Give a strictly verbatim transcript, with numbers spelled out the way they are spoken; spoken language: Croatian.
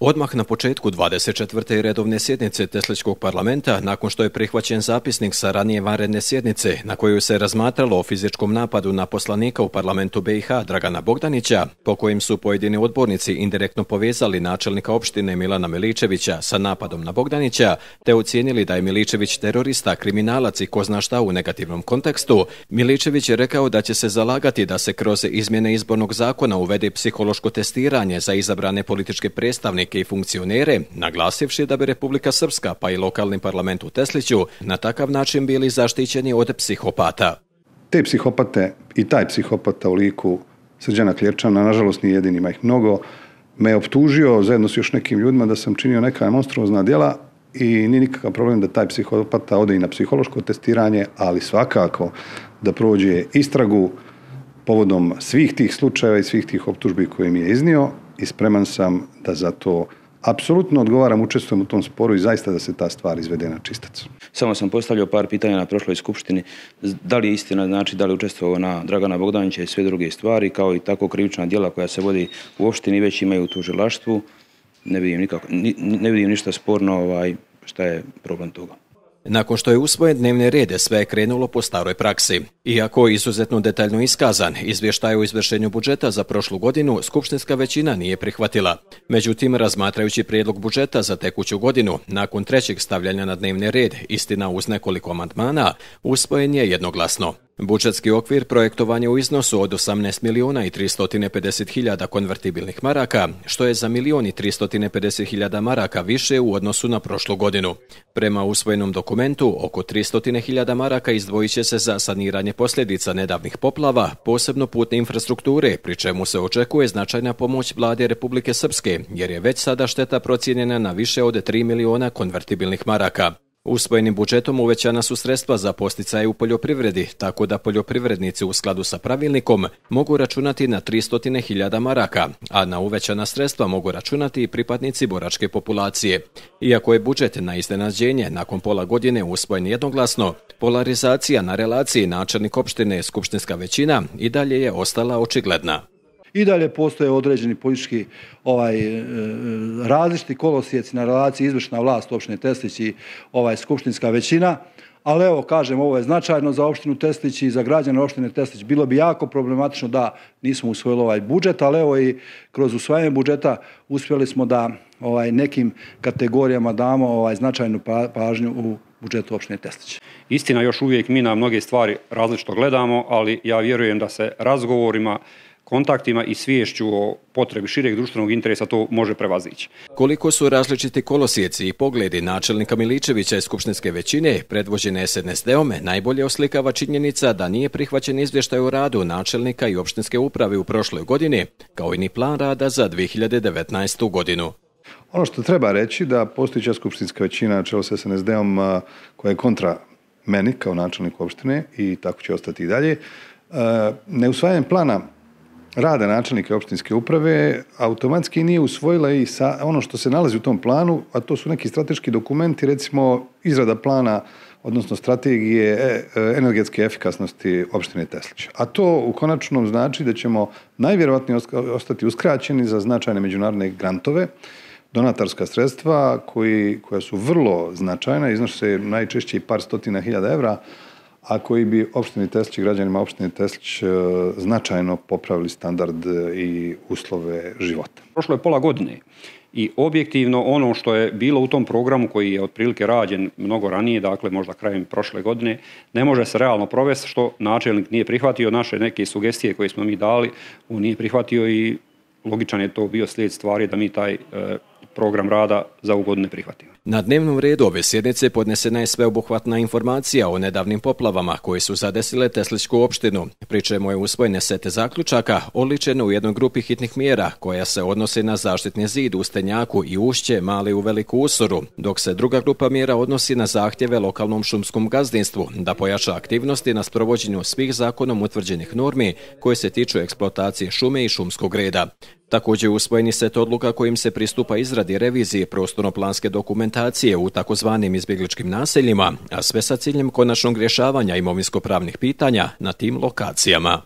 Odmah na početku dvadeset četvrte redovne sjednice Tesličkog parlamenta, nakon što je prihvaćen zapisnik sa ranije vanredne sjednice na koju se razmatralo o fizičkom napadu na poslanika u parlamentu B i H Dragana Bogdanića, po kojim su pojedini odbornici indirektno povezali načelnika opštine Milana Miličevića sa napadom na Bogdanića, te ocijenili da je Miličević terorista, kriminalac i ko zna šta u negativnom kontekstu, Miličević je rekao da će se zalagati da se kroz izmjene izbornog zakona uvede psihološko testiranje za izabrane političke predstavnike i funkcionere, naglasivši da bi Republika Srpska pa i lokalni parlament u Tesliću na takav način bili zaštićeni od psihopata. Te psihopate i taj psihopata u liku Srđana Kljerčana, nažalost nije jedini, ima ih mnogo, me optužio zajedno s još nekim ljudima da sam činio neka monstruozna djela i nije nikakav problem da taj psihopata ode i na psihološko testiranje, ali svakako da prođe istragu povodom svih tih slučajeva i svih tih optužbi koje mi je iznio i spreman sam da za to apsolutno odgovaram, učestvujem u tom sporu i zaista da se ta stvar izvede na čistac. Samo sam postavljao par pitanja na prošloj skupštini. Da li je istina, znači da li učestvovao na Dragana Bogdanića i sve druge stvari, kao i tako krivična djela koja se vodi u opštini već imaju u tužilaštvu. Ne vidim, nikako, ne vidim ništa sporno, ovaj, šta je problem toga. Nakon što je usvojen dnevni red, sve je krenulo po staroj praksi. Iako izuzetno detaljno iskazan, izvještaj o izvršenju budžeta za prošlu godinu skupštinska većina nije prihvatila. Međutim, razmatrajući prijedlog budžeta za tekuću godinu, nakon trećeg stavljanja na dnevni red, istina uz nekoliko amandmana, usvojen je jednoglasno. Budžetski okvir projektovan je u iznosu od osamnaest milijuna i tristo pedeset hiljada konvertibilnih maraka, što je za milijon i tristo pedeset hiljada maraka više u odnosu na prošlu godinu. Prema usvojenom dokumentu, oko tristo hiljada maraka izdvojit će se za saniranje posljedica nedavnih poplava, posebno putne infrastrukture, pri čemu se očekuje značajna pomoć vlade Republike Srpske, jer je već sada šteta procijenjena na više od tri milijuna konvertibilnih maraka. Usvojenim budžetom uvećana su sredstva za posticaje u poljoprivredi, tako da poljoprivrednici u skladu sa pravilnikom mogu računati na tristo hiljada maraka, a na uvećana sredstva mogu računati i pripadnici boračke populacije. Iako je budžet na iznenađenje nakon pola godine usvojen jednoglasno, polarizacija na relaciji načelnik opštine skupštinska većina i dalje je ostala očigledna. I dalje postoje određeni politički ovaj, različiti kolosijeci na relaciji izvršna vlast opštine Teslić i ovaj, skupštinska većina, ali evo kažem, ovo je značajno za opštinu Teslić i za građane opštine Teslić. Bilo bi jako problematično da nismo usvojili ovaj budžet, ali evo i kroz usvajanje budžeta uspjeli smo da ovaj, nekim kategorijama damo ovaj, značajnu pažnju u budžetu opštine Teslić. Istina, još uvijek mi na mnoge stvari različito gledamo, ali ja vjerujem da se razgovorima, kontaktima i sviješću o potrebi šireg društvenog interesa to može prevazići. Koliko su različiti kolosijeci i pogledi načelnika Miličevića iz skupštinske većine, predvođene S N S D-om, najbolje oslikava činjenica da nije prihvaćen izvještaj o radu načelnika i opštinske uprave u prošloj godini, kao i ni plan rada za dvije hiljade devetnaestu. godinu. Ono što treba reći da postojeća skupštinska većina na čelu s S N S D-om koja je kontra meni kao načelniku opštine i tako će ostati i dalje, neusvajanjem plana rada načelnika opštinske uprave automatski nije usvojila i sa ono što se nalazi u tom planu, a to su neki strateški dokumenti, recimo izrada plana, odnosno strategije energetske efikasnosti opštine Teslić. A to u konačnom znači da ćemo najvjerojatnije ostati uskraćeni za značajne međunarodne grantove, donatorska sredstva koji, koja su vrlo značajna, iznose najčešće i par stotina hiljada evra, a koji bi opštini Teslić i građanima opštine Teslić značajno popravili standard i uslove života. Prošlo je pola godine i objektivno ono što je bilo u tom programu koji je otprilike rađen mnogo ranije, dakle možda krajem prošle godine, ne može se realno provesti što načelnik nije prihvatio. Naše neke sugestije koje smo mi dali, on nije prihvatio i logičan je to bio slijed stvari da mi taj program rada za ovu godinu ne prihvatimo. Na dnevnom redu ove sjednice podnesena je sveobuhvatna informacija o nedavnim poplavama koje su zadesile Teslićku opštinu, pri čemu je usvojene sete zaključaka oličene u jednoj grupi hitnih mjera koja se odnose na zaštitni zid u Stenjaku i Ušće Mali u Veliku Usoru, dok se druga grupa mjera odnosi na zahtjeve lokalnom šumskom gazdinstvu da pojača aktivnosti na sprovođenju svih zakonom utvrđenih normi koje se tiču eksploatacije šume i šumskog reda. Također je usvojeni set odluka kojim se pristupa izradi revizije prostorno-planske dokumentacije u takozvanim izbjegličkim naseljima, a sve sa ciljem konačnog rješavanja imovinsko-pravnih pitanja na tim lokacijama.